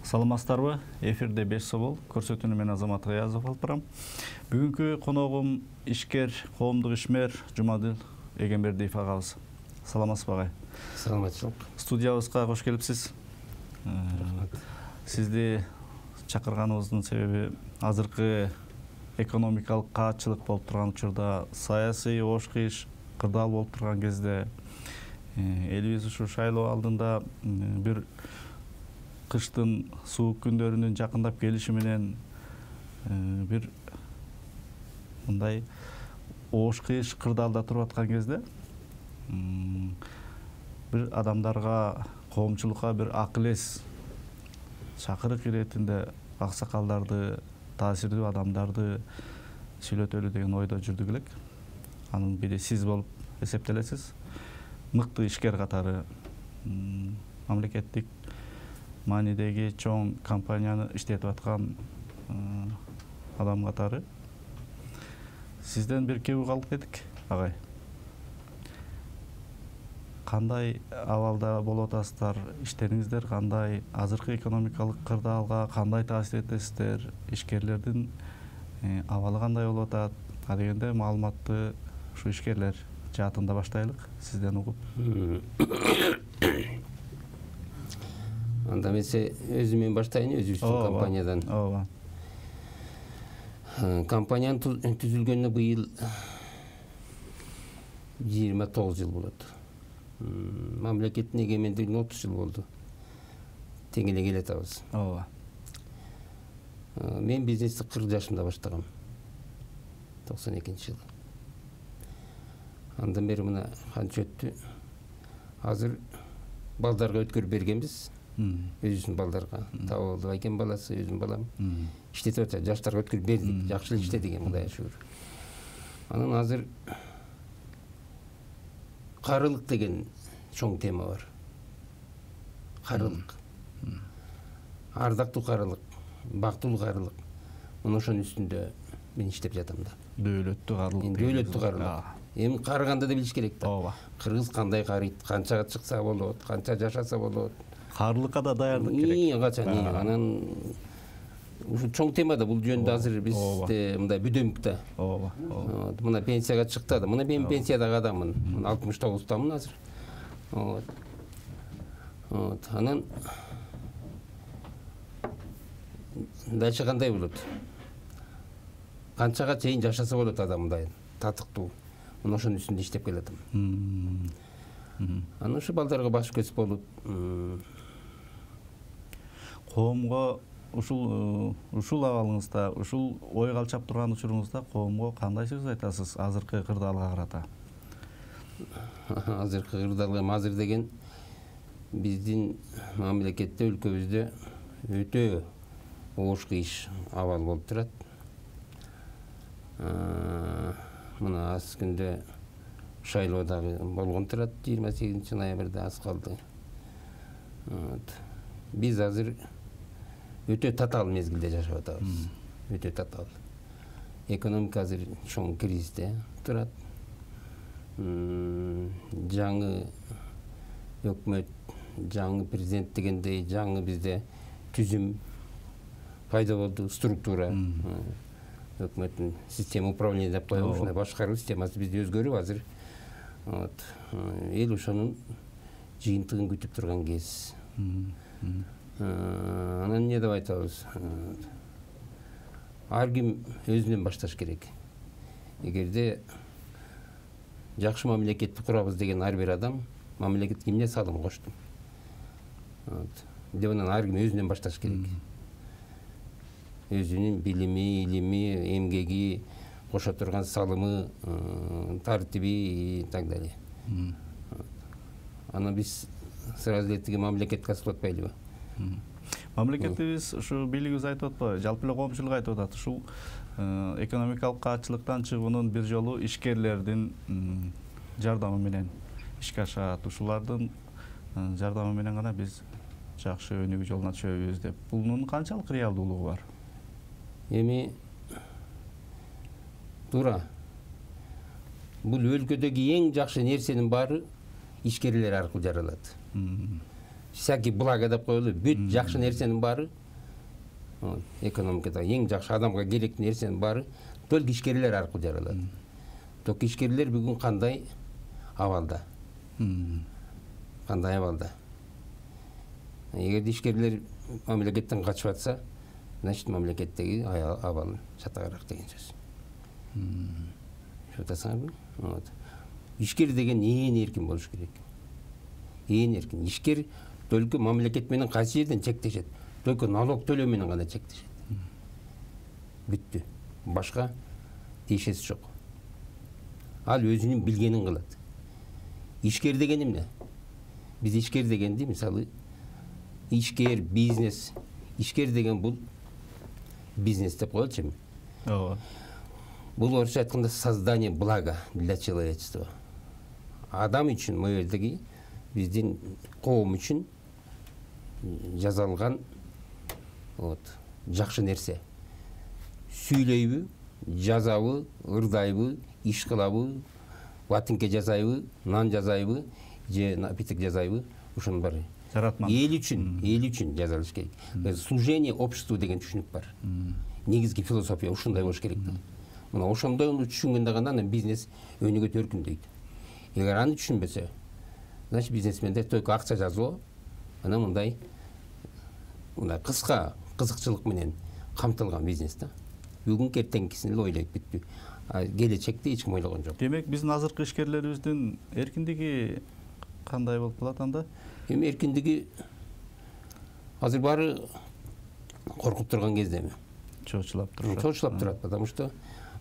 Саламатсыздарбы? Эфирде 5 собол көрсөтүүнү мен Азамат Гаязов алып барам. Бүгүнкү коногум ишкер, коомдук ишмер Жумадил Эгембердиев агабыз. Саламатсызбы агай? Саламатчылык. Студиябызга кош келипсиз. Сизди чакырганыбыздын себеби азыркы экономикалык каатчылык болуп турган учурда, саясий ош кыйыш кырдаал болуп турган кезде элибиз ушу шайлоо алдында бир кыштын суук күндөрүнүн жакындап келиши менен бир мындай ош кыйыш кырдаалда туруп аткан кезде бир адамдарга, коомчулукка бир акыл эс чакырык иретинде аксакалдарды, таасирдүү адамдарды сүйлөтөлү деген ойдо жүрдүк элек. Анын бири сиз болуп эсептелесиз. Мыкты ишкер катары, мамлекеттик маанидеги чоң компанияны иштетип аткан адам катары. Сизден бир кеп угалып кетик, агай. Кандай абалда болуп атасыздар, иштериңиздер кандай, азыркы экономикалык кырдаалга кандай таасир этесиздер, ишкерлердин абалы кандай болуп атат, дегенде маалыматты ушу ишкерлер жаатында баштайлык, сизден угуп. Анда эмесе өзүмөн баштайын, өзүбүздүн компаниядан. Ооба. Компаниянын түзүлгөнүнө быйыл 29 жыл болот. Мамлекеттин эгемендигине 30 жыл болду. Тең эле келе атабыз. Ооба. Мен бизнести 40 жашымда баштагам. 92-жылы. Андан бери мына канча өттү. Азыр балдарга өткөрүп бергенбиз. Өзүбүздүн балдарга. Табылды экен баласы, өзүмдүн балам. Иштетип атат, жаштарга өткөрүп бердик. Жакшы эле иштедик экен, Кудайга шүгүр. Анан азыр карылык деген чоң тема бар. Карылык. Ардактуу карылык, бактылуу карылык. Мына ошонун үстүндө мен иштеп жатам да. Дөөлөттүү карылык. Дөөлөттүү карылык. Эми карыганды да билиш керек да. Ооба. Кыргыз кандай карыйт, канчага чыкса болот, канча жашаса болот. Карылыкка да даярдык керек. Качан. Анан ушу чоң тема да, бул жөнүндө азыр бизде мындай бүдөмүк да. Ооба. Мына пенсияга чыкты да. Мына мен пенсиядагы адаммын. 69-тамын азыр. Анан дальше кандай болот? Канчага чейин жашаса болот адам мындай татыктуу. Мына ошонун үстүндө иштеп келатам. Анан ушу балдарга баш көз болуп, коомго ушул абалыңызда, ушул ой калчап турган учуруңузда коомго кандай сөз айтасыз азыркы кырдаалга карата? Азыркы кырдаалга азыр деген биздин мамлекетте, өлкөбүздө өтө ош кыйыш абал болуп турат. Мына аз күндө шайлоо дагы болгон турат, 28-ноябрда аз калды. Биз азыр өтө татаал мезгилде жашап атабыз. Өтө татаал. Экономика азыр чоң кризисте турат. Жаңы өкмөт, жаңы президент дегендей жаңы бизде түзүм пайда болду, структура. Өкмөттүн система управления деп коебу, ушундай башкаруу системасы бизде өзгөрүп азыр. Эл ошонун жыйынтыгын күтүп турган кез. Анан эмне деп айтабыз? Ар ким өзүнөн башташ керек. Эгерде жакшы мамлекетти курабыз деген ар бир адам мамлекетке эмне салым кошту? Деп анан ар ким өзүнөн башташ керек. Өзүнүн билими, илими, эмгеги, кошо турган салымы, тартиби и так далее. Анан биз сразу эле тиги мамлекетке асылып атпайлыбы? Мамлекетибиз ушу бийлигибиз айтып атпайбы, жалпы эле коомчулук айтып атат. Ушул экономикалык каатчылыктан чыгуунун бир жолу ишкерлердин жардамы менен ишке ашат. Ушулардын жардамы менен гана биз жакшы өнүгүү жолуна түшөбүз деп. Бунун канчалык реалдуулугу бар? Эми туура. Бул өлкөдөгү эң жакшы нерсенин баары ишкерлер аркылуу жаралат. всякий благо деп коелу, бүт жакшы нерсенин баары экономикада эң жакшы адамга керектүү нерсенин баары только ишкерлер аркылуу жаралат. Только ишкерлер бүгүн кандай абалда? Кандай абалда? Эгерде ишкерлер мамлекеттен качып атса, значит мамлекеттеги абал чатагараак деген сөз. Шутасыңарбы? Ишкер деген ээн эркин болуш керек. Ээн эркин. Ишкер только мамлекет менен кайсы жерден чектешет? Только налог төлөө менен гана чектешет. Бүттү. Башка тиешеси жок. Ал өзүнүн билгенин кылат. Ишкер деген эмне? Биз ишкер дегенди, мисалы, ишкер, бизнес. Ишкер деген бул бизнес деп коелучу эми. Ооба. Бул орусча айтканда создание блага для человечества. Адам үчүн, могу жердеги биздин коом үчүн жазалган жакшы нерсе. Сүйлөйбү, жазабы, ырдайбы, иш кылабы, ватинке жасайбы, нан жасайбы, же напиток жасайбы, ошонун баары Жаратман. эл үчүн жазалыш керек. Служение обществу деген түшүнүк бар. Негизги философия ушундай болуш керек. Мына ошондой түшүнгөндө гана анан бизнес өнүгөт, өркүндөйт. Эгер аны түшүнбөсө, значит бизнесмендер только акча жазуу, анан мындай кыска кызыкчылык менен камтылган бизнес да. Бүгүн эртеңкисин эле ойлойт, бүттү. Келечекти эч ким ойлогон жок. Демек биздин азыркы ишкерлерибиздин эркиндиги кандай болуп калат анда? Эми эркиндиги азыр баары коркуп турган кезде эми. Чоочулап турат. Чоочулап турат, потому что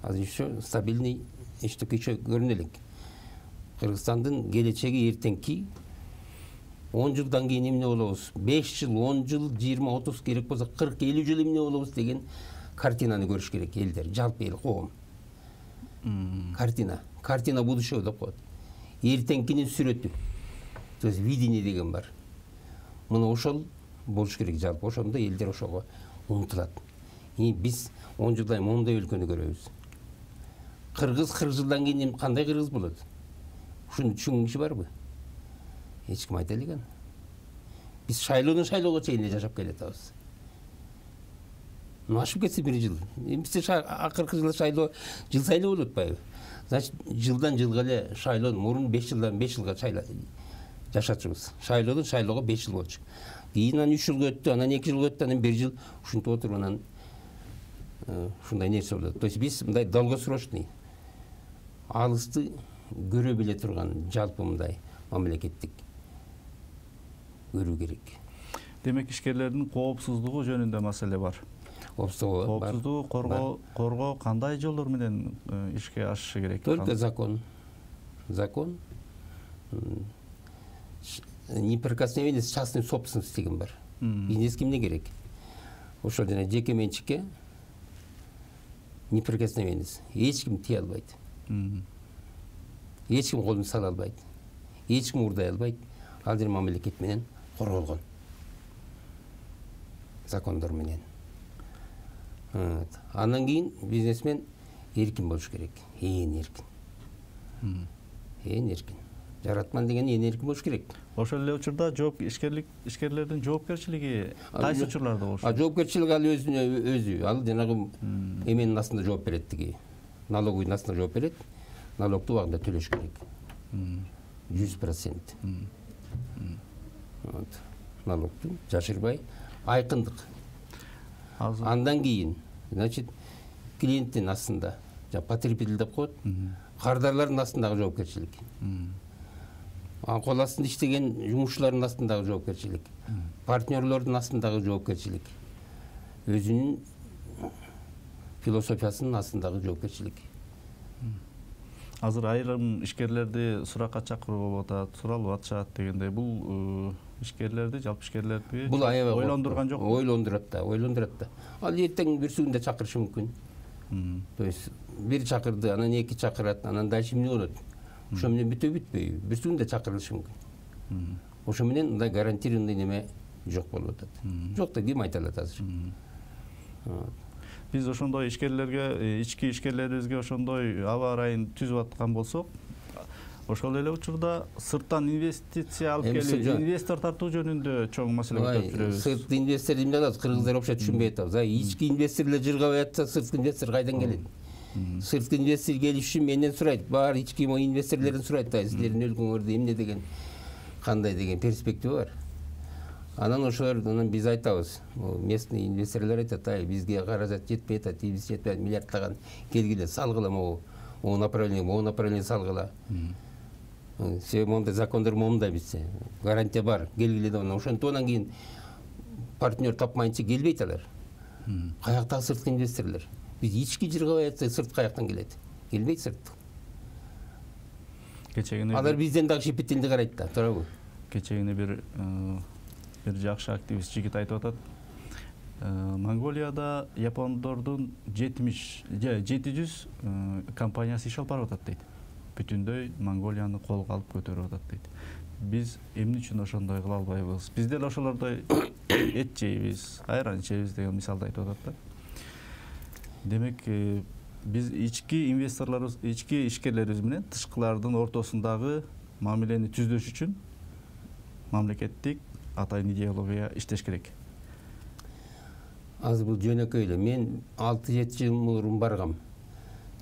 азыр еще стабильный эчтеке еще көрүнө элек. Кыргызстандын келечеги эртеңки 10 жылдан кийин эмне болобуз? 5 жыл, 10 жыл, 20-30 керек болсо 40-50 жыл эмне болобуз деген картинаны көрүш керек элдер, жалпы эл, коом. Картина будущего деп коет. Эртеңкинин сүрөтү. То есть видение деген бар. Мына ошол болуш керек жалпы. Ошондо элдер ошого умтулат. Биз 10 жылдан моундай өлкөнү көрөбүз. Кыргыз 40 жылдан кийин кандай кыргыз болот? Ушуну түшүнгөн киши барбы? Эч ким айта элек. Биз шайлоого чейин жашап келатабыз. Ашып кетсе бир жыл. Бизде акыркы жылы шайлоо жыл сайла болуп атпайбы? Значит, жылдан жылга эле шайлоо мурун 5 жылдан 5 жылга жашачубуз. Шайлоодон шайлоого 5 жыл болчу. Кийин анан 3 жылга өттү, анан 2 жылга өттү, анан 1 жыл ушинтип отуруп анан ушундай нерсе болот. То есть биз мындай долгосрочный, алысты көрө биле турган жалпы мындай мамлекеттик көрүү керек. Демек ишкерлердин коопсуздугу жөнүндө маселе бар. Коопсуздугу коргоо кандай жолдор менен ишке ашышы керек? Только закон. Неприкосновение с частной собственности деген бар. Бизнес кимге керек? Ошол жана жеке менчикке неприкосновенность. Эч ким тие албайт. Эч ким колун сала албайт. Эч ким урдай албайт. Ал жер мамлекет менен корголгон. Закондор менен. Андан кийин бизнесмен эркин болуш керек. Ээн эркин. Жаратман деген ээн эркин болуш керек. Ошол эле учурда ишкерлердин жоопкерчилиги кайсы учурларда болуш? Жоопкерчилик ал өзү. Ал жанагы эменин астында жооп берет тиги. Налоговый астында жооп берет. Налогду убагында төлөш керек. 100%. Налогду жашырбай, айкындык. Андан кийин, значит, клиенттин астында, потребитель деп коет, кардарлардын астындагы жоопкерчилик. Кол астында иштеген жумушчулардын астындагы жоопкерчилик. Партнерлордун астындагы жоопкерчилик. Өзүнүн философиясынын астындагы жоопкерчилик. Азыр айрым ишкерлерди суракка чакыруу болуп атат, суралып атышат дегендей. Бул ишкерлерди, жалпы ишкерлерди ойлондурган жокпу? Ойлондурат да. Ал эртең бүрсүгүндө чакырышы мүмкүн. То есть бир чакырды, анан 2 чакырат, анан дальше эмне болот? Ошо менен бүтпөйбү? Бүрсүгүндө чакырылышы мүмкүн. Ошо менен мындай гарантированный неме жок болуп атат. Жок да ким айта алат азыр? Биз ошондой ишкерлерге, ички ишкерлерибизге ошондой аба ырайын түзүп аткан болсок, Ошол эле учурда сырттан инвестиция алып келип, инвестор тартуу жөнүндө чоң маселе көтөрүп жүрөбүз. Сырт инвестор эмне кылат? Кыргыздар вообще түшүнбөй атабыз. Ички инвесторлор жыргабай атса, сырткы инвестор кайдан келет? Сырткы инвестор келиш үчүн менден сурайт. Баары ички инвесторлордон сурайт да, силердин өлкөңөрдө эмне деген, кандай деген перспектива бар. Анан ошолордон биз айтабыз, местный инвесторлор айтат, бизге каражат жетпей атат, биз жетпей миллиардтаган келгиле, салгыла могу направление салгыла. Себеби мондай закондор момундай бизде. Гарантия бар, келгиле деп. Ошентип анан кийин партнер тапмайынча келбейт алар. Каяктагы сырткы инвесторлор? Биз ички жыргабай атсак, сырт каяктан келет? Келбейт сырт. Алар бизден дагы шепеттелди карайт да, туурабы? Кечегине бир жакшы активист жигит айтып атат. Монголияда япондордун 700 компаниясы иш алып барып атат дейт. Бүтүндөй Монголияны колго алып көтөрүп атат дейт. Биз эмне үчүн ошондой кыла албайбыз? Биз деле ошолордой эт жейбиз, айран ичебиз деген мисалды айтып атат да. Демек, биз ички инвесторлорубуз, ички ишкерлерибиз менен тышкылардын ортосундагы мамилени түздөш үчүн мамлекеттик атайын идеология иштеш керек. Азыр бул жөнөкөй эле. Мен 6-7 жыл мурун баргам.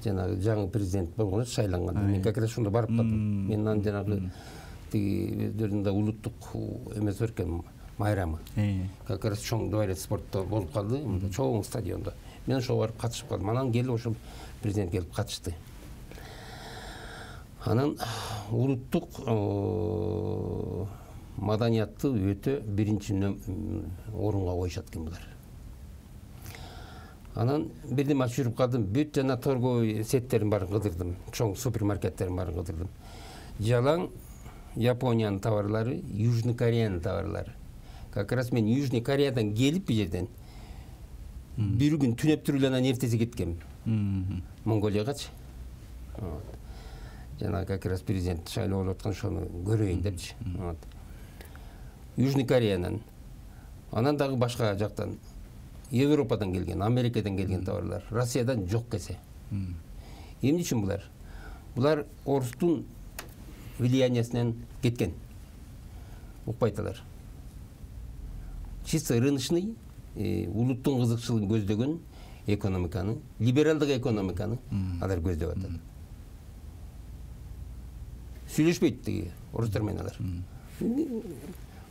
Жанагы жаңы президент болгондо шайланганда мен как раз ошондо барып калдым. Мен анан жанагы тиги өздөрүнүн улуттук эмеси бар экен, майрамы. Как раз чоң дворец спортто болуп калды, чоң стадиондо. Мен ошого барып катышып калдым. Анан келип ошол президент келип катышты. Анан улуттук маданиятты өтө биринчи орунга коюшат экен булар. Анан бирдем ачып жүрүп калдым. Бүт жана торговый сеттерин баарын кыдырдым. Чоң супермаркеттерин баарын кыдырдым. Жалаң Япониянын товарлары, Южный Кореянын товарлары. Как раз мен Южный Кореядан келип бу жерден бир күн түнөп туруп эле анан эртеси кеткем. Монголиягачы. Жана как раз президент шайлоо болуп аткан ошону көрөйүн депчи. Южный Кореянан. Анан дагы башка жактан Европадан келген, Америкадан келген товарлар, Россиядан жок кесе. Эмне үчүн булар? Булар орустун влияниясынан кеткен. Укпайталар. Чисто рыночный, улуттун кызыкчылыгын көздөгөн экономиканы, либералдык экономиканы алар көздөп атат. Сүйлөшпөйт тиги орустар менен алар.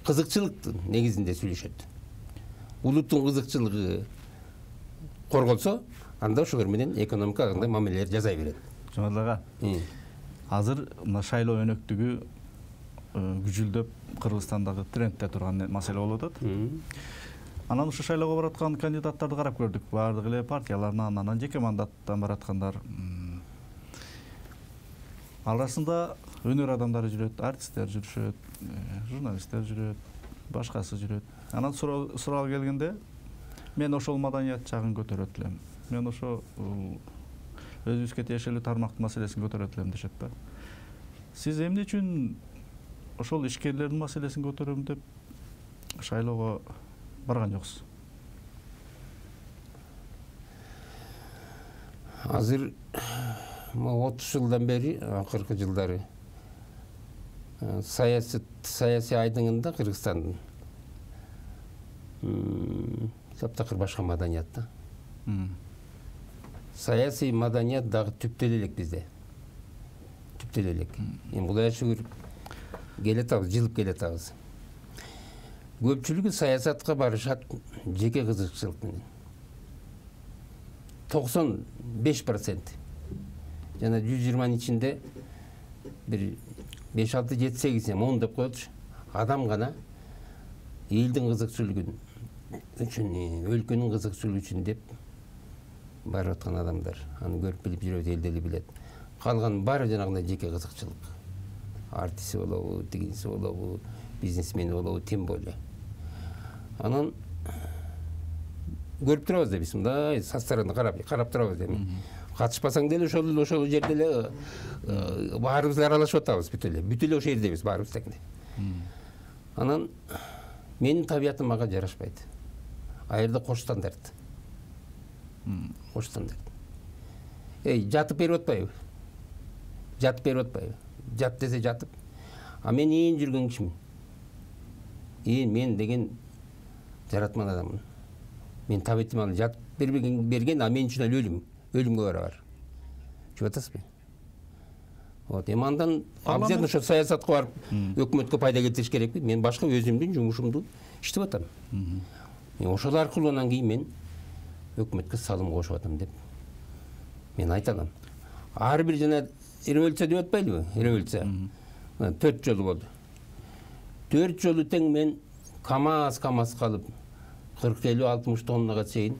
Кызыкчылыктын негизинде сүйлөшөт. Улуттун кызыкчылыгы корголсо, анда ошолор менен экономика кандай мамилелер жасай берет. Жомарт ага, азыр мына шайлоо өнөктүгү күжүлдөп Кыргызстандагы трендте турган маселе болуп атат. Анан ушу шайлоого бараткан кандидаттарды карап көрдүк. Баардык эле партиялардан, анан жеке мандаттан бараткандар. Арасында өнөр адамдары жүрөт, артисттер жүрүшөт, журналисттер жүрөт, башкасы жүрөт. Анан суроо келгенде, мен ошол маданият жагын көтөрөт элем. Мен ошо өзүбүзгө тиешелүү тармактын маселесин көтөрөт элем дешет да. Сиз эмне үчүн ошол ишкерлердин маселесин көтөрөм деп шайлоого барган жоксуз? Азыр 30 жылдан бери, акыркы жылдары саясий айдыңында Кыргызстандын таптакыр башка маданият да. Саясий маданият дагы түптөлө элек бизде. Түптөлө элек. Эми Кудайга шүгүр келатабыз, жылып келатабыз. Көпчүлүгү саясатка барышат жеке кызыкчылык менен. 95%. Жана 120-нын ичинде бир 5-6-7-8 10 деп коелучу. Адам гана элдин кызыкчылыгын үчүн, өлкөнүн кызыкчылыгы үчүн деп барып аткан адамдар. Аны көрүп билип жүрөт, эл дели билет. Калган баары жанагындай жеке кызыкчылык. Артиси болобу, тигиниси болобу, бизнесмени болобу, тем более. Анан көрүп турабыз да биз мындай со стороны карап турабыз эми. Катышпасаң деле ошол жерде эле баарыбыз аралашып атабыз бүт эле ошол жердебиз баарыбыз тегине. Анан менин табиятым мага жарашпайт. Аерде кош стандарт. Кош стандарт. Жатып берип атпайбы? жат десе жатып. А мен ээн жүргөн кишимин. Мен деген жаратман адаммын. Мен табетимал жат берген, а мен үчүн ал өлүмгө барабар. Түшүп атасызбы? Вот, эми андан обязательно ошо саясатка барып, өкмөткө пайда келтириш керекпи? Мен башка өзүмдүн жумушумду иштеп атам. Ошол аркылуу анан кийин мен өкмөткө салым кошуп атам деп мен айта алам. Ар бир жана революция деп атпайлыбы? Революция. 4 жолу болду. 4 жолу тең мен КАМАЗ калып 40-50-60 тоннага чейин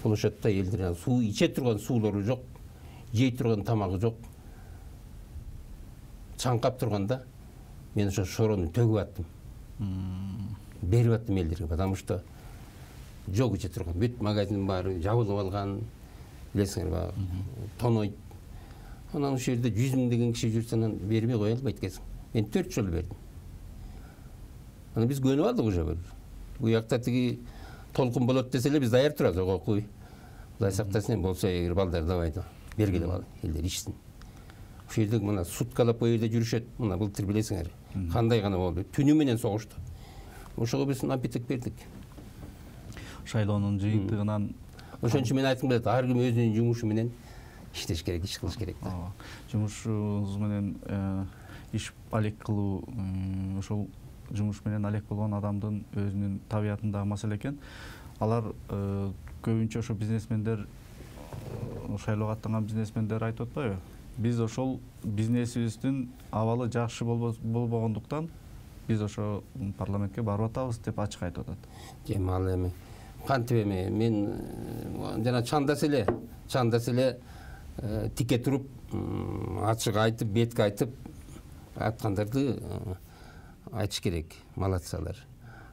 площадьта элдер суу иче турган суулары жок, жей турган тамагы жок. Чаңкап турганда мен ошо шорону төгүп аттым. Берип аттым элдерге, потому что жок иче турган. Бүт магазин баары жабылып алган. Билесиңер баягы тонойт. Анан ошол жерде 100 000 деген киши жүрсө анан бербей кое албайт экенсиң. Мен 4 жолу бердим. Анан биз көнүп алдык уже бир. Бу жакта тиги толкун болот десе эле биз даяр турабыз, ого куй. Кудай сактасын, болсо эгер балдар давай бергиле ал, элдер ичсин. Ошол жерде мына суткалап бу жерде жүрүшөт. Мына былтыр билесиңер. Кандай гана болду. Түнү менен согушту. Ошого биз напиток бердик. Шайлоонун жыйынтыгынан ошончо мен айткым келет, ар ким өзүнүн жумушу менен иштеш керек, иш кылыш керек да. Жумушуңуз менен иш алек кылуу, ошол жумуш менен алек болгон адамдын өзүнүн табиятындагы маселе экен. Алар көбүнчө ошо бизнесмендер, шайлоого аттанган бизнесмендер айтып атпайбы? Биз ошол бизнесибиздин абалы жакшы болбогондуктан биз ошо парламентке барып атабыз деп ачык айтып атат. Ал эми кантип эми мен жана чандас эле тике туруп, ачык айтып, бетке айтып аткандарды айтыш керек. Молодцалар.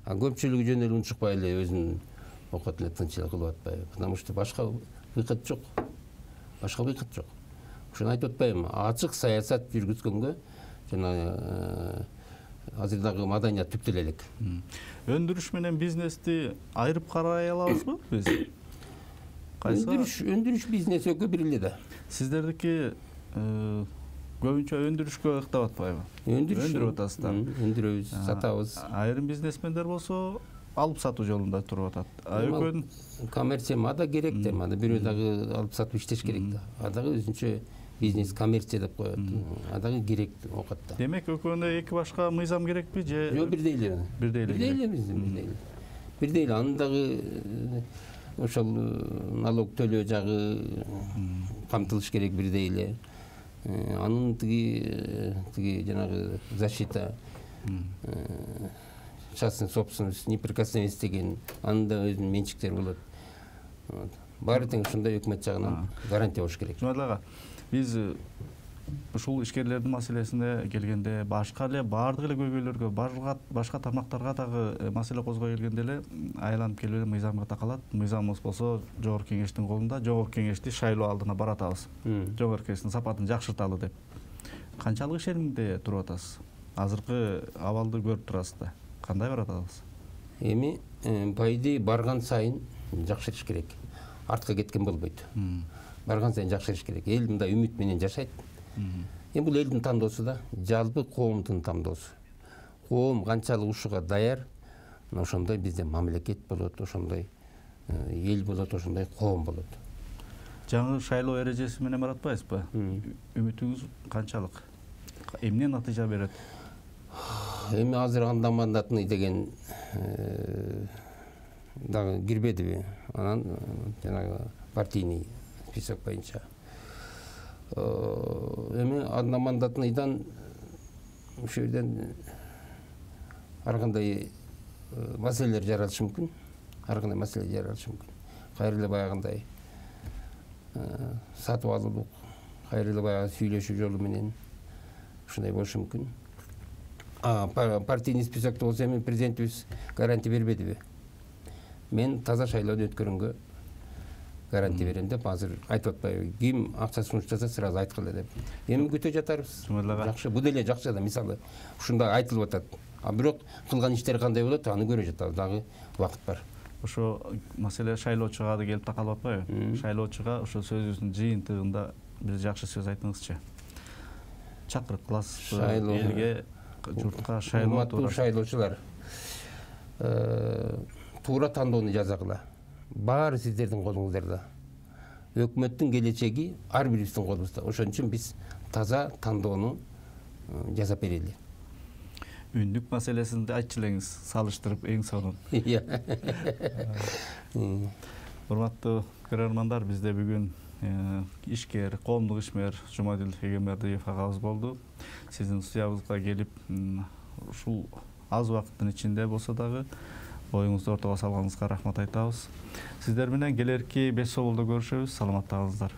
А көпчүлүгү жөн эле унчукпай эле өзүн окот эле тынч эле кылып атпайбы? Потому что башка выход жок. Ошону айтып атпайбы? Ачык саясат жүргүзгөнгө жана азыр дагы маданият түптөлө элек. Өндүрүш менен бизнести айырып карай алабызбы биз? Өндүрүш бизнес экөө бир эле да. Сиздердики көбүнчө өндүрүшкө ыктап атпайбы? Өндүрүп атасыздар. Өндүрөбүз, сатабыз. Айрым бизнесмендер болсо алып сатуу жолунда туруп атат. Экөөнүн коммерция мада керек да, мада бирөө дагы алып сатып иштеш керек да. А дагы өзүнчө бизнес коммерция деп коет. А дагы керек окат да. Демек экөөнө эки башка мыйзам керекпи же? Жок, бирдей эле. Бирдей эле. Анын дагы ошол налог төлөө жагы камтылыш керек бирдей эле. Анын тиги жанагы защита частный собственность, неприкосновенность деген анын да өзүнүн менчиктери болот. Баары тең ушундай өкмөт жагынан гарантия болуш керек. Жумадыл ага, биз ушул ишкерлердин маселесине келгенде башка эле баардык эле көйгөйлөргө, башка тармактарга дагы маселе козгой келгенде эле айланып келип эле мыйзамга такалат. Мыйзамыбыз болсо Жогорку Кеңештин колунда. Жогорку Кеңешти шайлоо алдына баратабыз. Жогорку Кеңештин сапатын жакшырталы деп. Канчалык ишенимде туруп атасыз? Азыркы абалды көрүп турасыз да. Кандай баратабыз? Эми по идее барган сайын жакшырыш керек. Артка кеткен болбойт. Барган сайын жакшырыш керек. Эл мындай үмүт менен жашайт. Эми бул элдин тандоосу да, жалпы коомдун тандоосу. Коом канчалык ушуга даяр, ошондой бизде мамлекет болот, ошондой эл болот, ошондой коом болот. Жаңы шайлоо эрежеси менен баратпайсызбы? Үмүтүңүз канчалык? Эмне натыйжа берет? Эми азыр анда мандатный деген дагы кирбедиби? Анан жанагы партийный список боюнча. Эми одномандатныйдан ошол жерден ар кандай маселелер жаралышы мүмкүн. Кайра эле баягындай сатып алуулук, кайра эле баягы сүйлөшүү жолу менен ушундай болушу мүмкүн. Партийный списокто болсо эми президентибиз гарантия бербедиби? Мен таза шайлоону өткөргөнгө гарантия берем деп азыр айтып атпайбы? Ким акча сунуштаса сразу айткыла деп. Эми күтө жатарбыз. Жакшы, бул деле жакшы да, мисалы ушундай айтылып атат. А бирок кылган иштери кандай болот, аны көрө жатабыз, дагы убакыт бар. Ошо маселе шайлоочуга да келип такалып атпайбы? Шайлоочуга ошо сөзүбүздүн жыйынтыгында бир жакшы сөз айтыңызчы. чакырып кыласызбы элге, журтка шайлоо урматтуу туурасында? шайлоочулар, туура тандоону жасагыла. Баары сиздердин колуңуздарда. Өкмөттүн келечеги ар бирибиздин колубузда. Ошон үчүн биз таза тандоону жасап берели. Үндүк маселесинди айтчу элеңиз, салыштырып эң сонун. Урматтуу көрөрмандар, бизде бүгүн ишкер, коомдук ишмер Жумадил Эгембердиев агабыз болду. Сиздин студиябызга келип, ушул аз убакыттын ичинде болсо дагы оюңузду ортого салганыңызга рахмат айтабыз. Сиздер менен келерки 5 соболдо көрүшөбүз. Саламатта калыңыздар.